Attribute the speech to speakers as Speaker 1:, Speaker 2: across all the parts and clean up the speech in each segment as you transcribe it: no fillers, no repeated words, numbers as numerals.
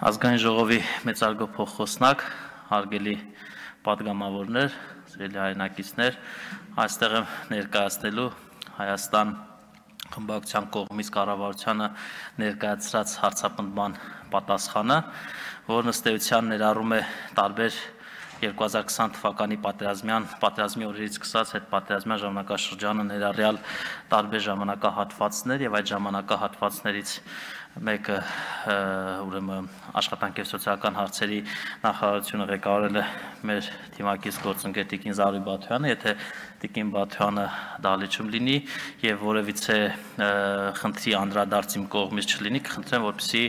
Speaker 1: Ազգային ժողովի մեծարգո փոխխոսնակ, հարգելի պատգամավորներ, սիրելի հայրենակիցներ, այստեղ եմ ներկայացնելու Հայաստան խմբակցության կողմից կառավարությանը ներկայացրած հարցապնդման պատասխանը, որն ըստ էության ներառում է տարբեր 2020 թվականի պատերազմի օրերից սկսած հետպատերազմյան ժամանակաշրջանը ներառյալ տարբեր ժամանակահատվածներ եւ այդ ժամանակահատվածներից մեկը ուրեմն աշխատանքի եւ սոցիալական հարցերի նախարարությունը ղեկավարել է մեր թիմակից գործընկեր Տիկին Զարուհի Բաթոյանը, եթե Տիկին Բաթոյանը դահլիճում լինի եւ որևիցե խնդրի անդրադարձ իմ կողմից չլինի, կխնդրեմ, որպեսզի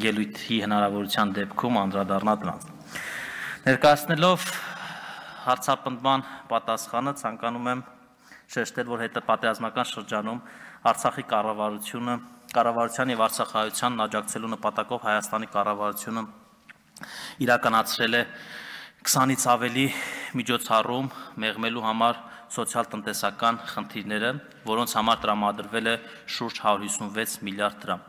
Speaker 1: ելույթի հնարավորության դեպքում անդրադառնա դրանց։ Ներկայացնելով հարցապնդման պատասխանը ցանկանում եմ շեշտել, որ հետպատերազմական շրջանում Արցախի կառավարության եւ Արցախահայությանն աջակցելու նպատակով Հայաստանի կառավարությունը իրականացրել է 20-ից ավելի միջոցառում մեղմելու համար սոցիալ-տնտեսական խնդիրները, որոնց համար տրամադրվել է շուրջ 156 միլիարդ դրամ։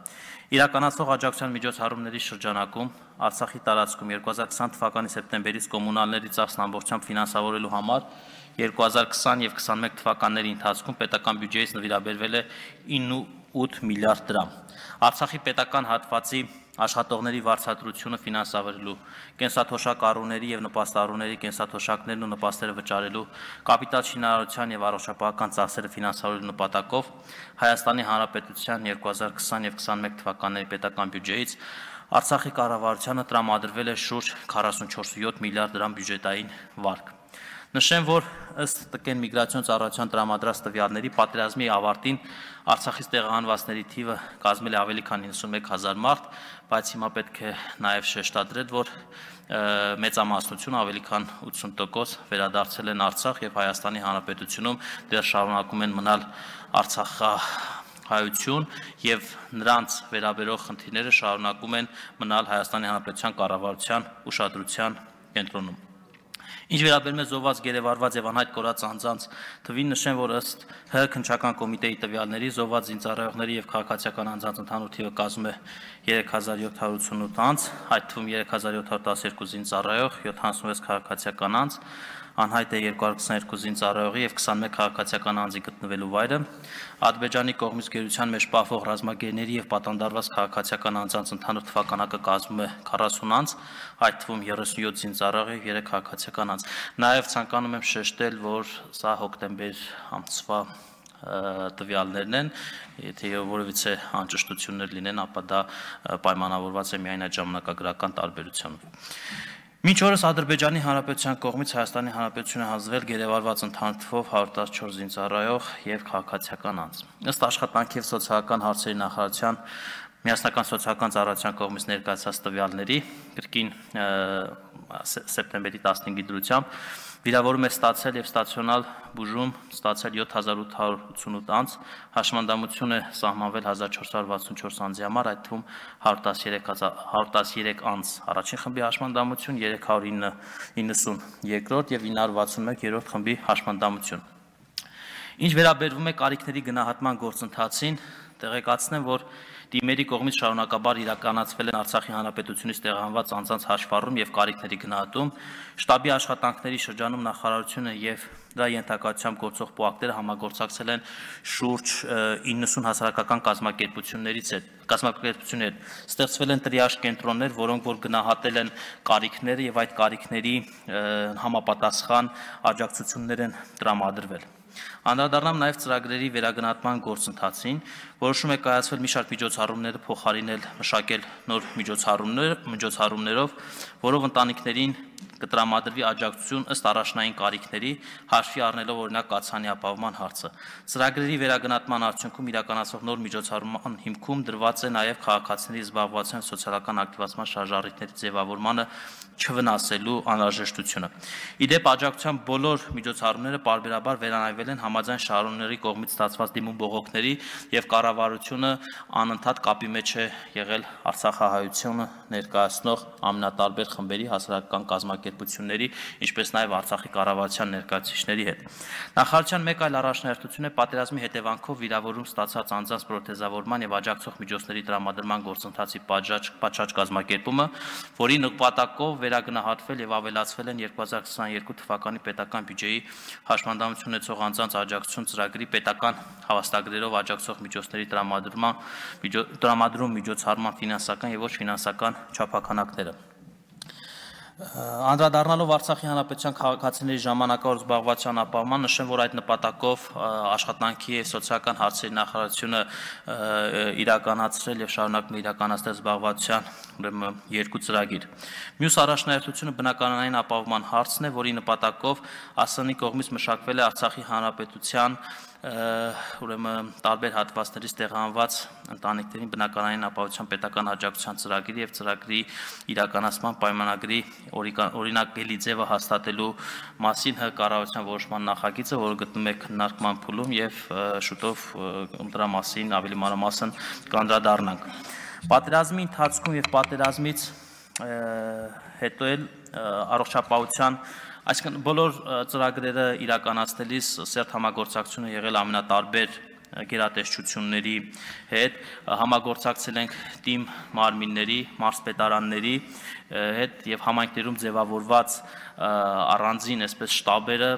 Speaker 1: Իրականացող աջակցության միջոցառումների շրջանակում Արցախի տարածքում 2020 թվականի սեպտեմբերից կոմունալների ծախսն ամբողջությամբ ֆինանսավորելու համար 2020 եւ 21 թվականների ընթացքում պետական բյուջեից նվիրաբերվել է 9.8 միլիարդ դրամ։ Արցախի պետական հատվածի աշխատողների վարձատրությունը ֆինանսավորելու, կենսաթոշակ առուների եւ նպաստառուների կենսաթոշակներն ու նպաստերը վճարելու, կապիտալ շինարարության եւ առողջապահական ծախսերը ֆինանսավորելու նպատակով Հայաստանի Հանրապետության 2020 եւ 21 թվականների պետական բյուջեից Արցախի կառավարությանը տրամադրվել է շուրջ 44.7 միլիարդ դրամ բյուջետային վարկ։ Նշեմ, որ ըստ ՏԿ միգրացիոն ծառայության տրամադրած տվյալների պատերազմի ավարտին Արցախից տեղահանվածների թիվը կազմել է ավելի քան 91,000 մարդ, բայց հիմա պետք է նաև շեշտադրել, որ մեծամասնությունը ավելի քան 80% վերադարձել են Արցախ եւ Հայաստանի Հանրապետությունում դեռ շարունակում են մնալ արցախահայություն եւ նրանց վերաբերող խնդիրները շարունակում են մնալ Հայաստանի Հանրապետության կառավարության ուշադրության կենտրոնում։ Ինչ վերաբերում է զոհված, գերեվարված եւ անհայտ կորած անձանց թվին, նշեմ, որ ըստ ՀՀ քննչական կոմիտեի տվյալների զոհված զինծառայողների եւ քաղաքացիական անձանց ընդհանուր թիվը կազմում է 3788 անձ, այդ թվում 3712 զինծառայող, 76 քաղաքացիական անձ, անհայտ է 222 զինծառայողի եւ 21 քաղաքացիական անձի գտնվելու վայրը, Ադրբեջանի կողմից գերության մեջ պահվող ռազմագերիների եւ պատանդարված քաղաքացիական անձանց ընդհանուր թվականակը կազմում է 40 անձ, այդ թվում 37 զինծառայող եւ 3 քաղաքացիական անձ։ Նաեւ ցանկանում եմ շեշտել, որ սա հոկտեմբեր ամսվա տվյալներն են, եթե որևիցե անճշտություններ լինեն, ապա դա պայմանավորված է միայն այդ ժամանակագրական տարբերությունով։ Մինչ օրս Ադրբեջանի Հանրապետության կողմից Հայաստանի Հանրապետությունը հանձնվել գերեվարված ընդհանուր թվով 114 զինծառայող եւ քաղաքացիական անձ։ Ըստ աշխատանքի եւ սոցիալական հարցերի նախարարության Միասնական սոցիալական ծառայության կողմից ներկայացած տվյալների կրկին սեպտեմբերի 15-ի դրությամբ վիրավորում է ստացել եւ ստացիոնալ բուժում ստացել 7888 անձ, հաշմանդամություն է սահմանվել 1464 անձի համար, այդ թվում 113 անձ առաջին խմբի հաշմանդամություն, 390 երկրորդ եւ 961 երրորդ խմբի հաշմանդամություն։ Ինչ վերաբերվում է կարիքների գնահատման գործընթացին, տեղեկացնեմ, որ Դիմերի կողմից շարունակաբար իրականացվել են Արցախի Հանրապետությունից տեղահանված անձանց հաշվառում եւ կարիքների գնահատում, շտաբի աշխատանքների շրջանում նախարարությունը եւ դրա ենթակայությամբ գործող պոակները համագործակցել են շուրջ 90 հասարակական կազմակերպություններ, ստեղծվել են տրիաժ կենտրոններ, որոնք որ գնահատել են կարիքները եւ այդ կարիքների համապատասխան աջակցություններ են տրամադրվել։ Անդրադառնամ նաև ծրագրերի վերագնահատման գործընթացին, որոշում է կայացվել մի շարք միջոցառումները փոխարինել մշակել նոր միջոցառումներով, որով ընտանիքներին կտրամադրվի աջակցություն ըստ առաջնային կարիքների, հաշվի առնելով օրինակ կաթսանի ապահովման հարցը։ Ծրագրերի վերագնահատման արդյունքում իրականացող նոր միջոցառման հիմքում դրված է նաև քաղաքացիների զբաղվածության սոցիալական ակտիվացման շարժառիթների ձևավորմանը չվնասելու անհրաժեշտությունը։ Իդեպ աջակցության բոլոր միջոցառումները պարբերաբար վերանայվել են համաձայն շահառուների կողմից ստացված դիմում բողոքների եւ կառավարությունը անընդհատ կապի մեջ է եղել Արցախահայությունը ներկայացնող ամենատարբեր խմբերի հասարակական կազմակերպությունների կազմակերպությունների, ինչպես նաև Արցախի կառավարության ներկայացուցիչների հետ։ Նախարարության մեկ այլ առաջնահերթություն է պատերազմի հետևանքով վիրավորում ստացած անձանց պրոթեզավորման եւ աջակցող միջոցների տրամադրման գործընթացի պատշաճ կազմակերպումը, որի նպատակով վերագնահատվել եւ ավելացվել են 2022 թվականի պետական բյուջեի հաշմանդամություն ունեցող անձանց աջակցություն ծրագրի պետական հավաստագրերով աջակցող միջոցների տրամադրում միջոցառման ֆինանսական եւ ոչ ֆինանսական չափականակները։ Անդրադառնալով Արցախի հանրապետության քաղաքացիների ժամանակավոր զբաղվածության ապահովման, նշեմ, որ այդ նպատակով աշխատանքի եւ սոցիալական հարցերի նախարարությունը իրականացրել եւ շարունակում է իրականացնել զբաղվածության ուրեմն 2 ծրագիր։ Մյուս առաջնահերթությունը բնակարանային ապահովման հարցն է, որի նպատակով ԱՍՆ-ի կողմից մշակվել է Արցախի հանրապետության ուրեմն տարբեր հատվածներից տեղահանված ընտանիքներին բնակարանային ապահովության պետական աջակցության ծրագրի եւ ծրագրի իրականացման պայմանագրի օրինակելի ձևը հաստատելու մասին ՀՀ կառավարության որոշման նախագիծը, որը գտնվում է քննարկման փուլում եւ շուտով դրա մասին ավելի մանրամասն կանդրադառնանք։ Պատերազմի ընթացքում եւ պատերազմից հետո էլ առողջապահության Այսինքն բոլոր ծրագրերը իրականացնելիս սերտ համագործակցությունը եղել ամենատարբեր գերատեսչությունների հետ, համագործակցել ենք թիմ մարմինների, մարզպետարանների հետ եւ համայնքներում ձևավորված առանձին այսպես շտաբերը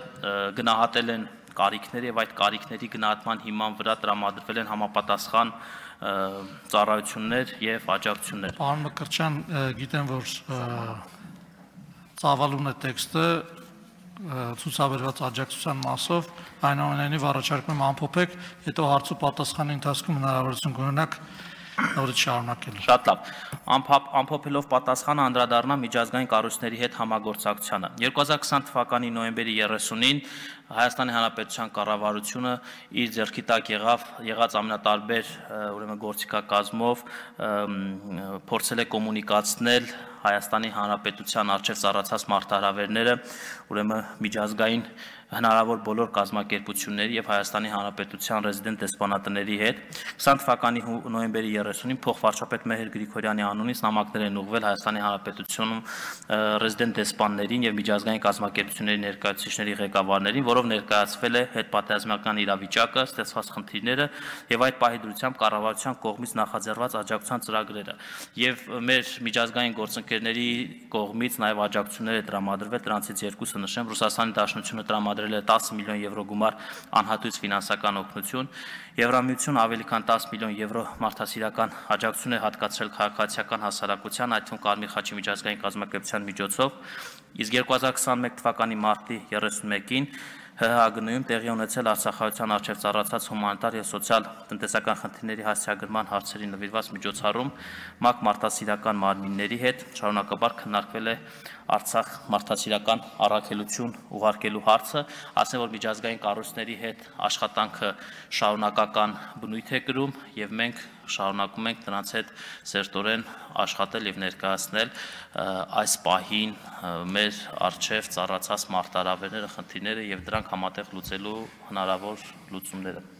Speaker 1: գնահատել են կարիքները եւ այդ կարիքների գնահատման հիման վրա տրամադրվել են համապատասխան ծառայություններ եւ աջակցություններ։
Speaker 2: Պարոն Մկրտչյան, գիտեմ, որ ծավալուն է տեքստը ցուցաբերված աջակցության մասով, այնուամենայնիվ առաջարկում եմ ամփոփեք, հետո հարց ու պատասխանի ընթացքում հնարավորություն կունենաք նորից շարունակելու։
Speaker 1: Շատ լավ։ Ամփոփելով պատասխանը անդրադառնամ միջազգային կառույցների հետ համագործակցությանը։ 2020 թվականի նոյեմբերի 30-ին Հայաստանի Հանրապետության կառավարությունը իր ձեռքի տակ եղած ամենատարբեր ուրեմն գործիքակազմով փորձել է կոմունիկացնել Հայաստանի Հանրապետության առջև ծառացած մարտահրավերները ուրեմն միջազգային հնարավոր բոլոր կազմակերպությունների եւ Հայաստանի Հանրապետության ռեզիդենտ դեսպանատների հետ 20 թվականի նոյեմբերի 30-ին փոխվարչապետ Մեհեր Գրիգորյանի անունից նամակներ են ուղղվել Հայաստանի Հանրապետությունում ռեզիդենտ դեսպաններին եւ միջազգային կազմակերպությունների ներկայացուցիչների ղեկավարներին, որով ներկայացվել է հետպատերազմական իրավիճակը, ստեղծված խնդիրները եւ այդ պահի դրությամբ կառավարության կողմից նախաձեռնված աջակցության ծրագրերը եւ մեր միջազգային գործընկերների կողմից նաեւ աջակցություններ է տրամադրվել, դրանցից երկուսը նշեմ, Ռուսաստանի Դաշնությունը տրամադրել է 10 միլիոն եվրո գումար անհատույց ֆինանսական օգնություն, Եվրամիությունը ավելի քան 10 միլիոն եվրո մարդասիրական աջակցություն է հատկացրել քաղաքացիական հասարակության, այդ թվում Կարմիր խաչի միջազգային կազմակերպության միջոցով, իսկ 2021 թվականի մարտի 31-ին ՀՀ-ում տեղի ունեցել Արցախահայության առջև ծառացած հումանիտար եւ սոցիալ տնտեսական խնդիրների հասցեագրման հարցերի նվիրված միջոցառում ՄԱԿ մարդասիրական մարմինների հետ շարունակաբար քննարկվել է Արցախ մարդասիրական առաքելություն ուղարկելու հարցը, ասեմ, որ միջազգային կառույցների հետ աշխատանքը շարունակական բնույթ է կրում եւ մենք շարունակում ենք նրանց հետ սերտորեն աշխատել եւ ներկայացնել այս պահին մեր առջև ծառացած մարտահրավերները, խնդիրները եւ դրանք համատեղ լուծելու հնարավոր լուծումները։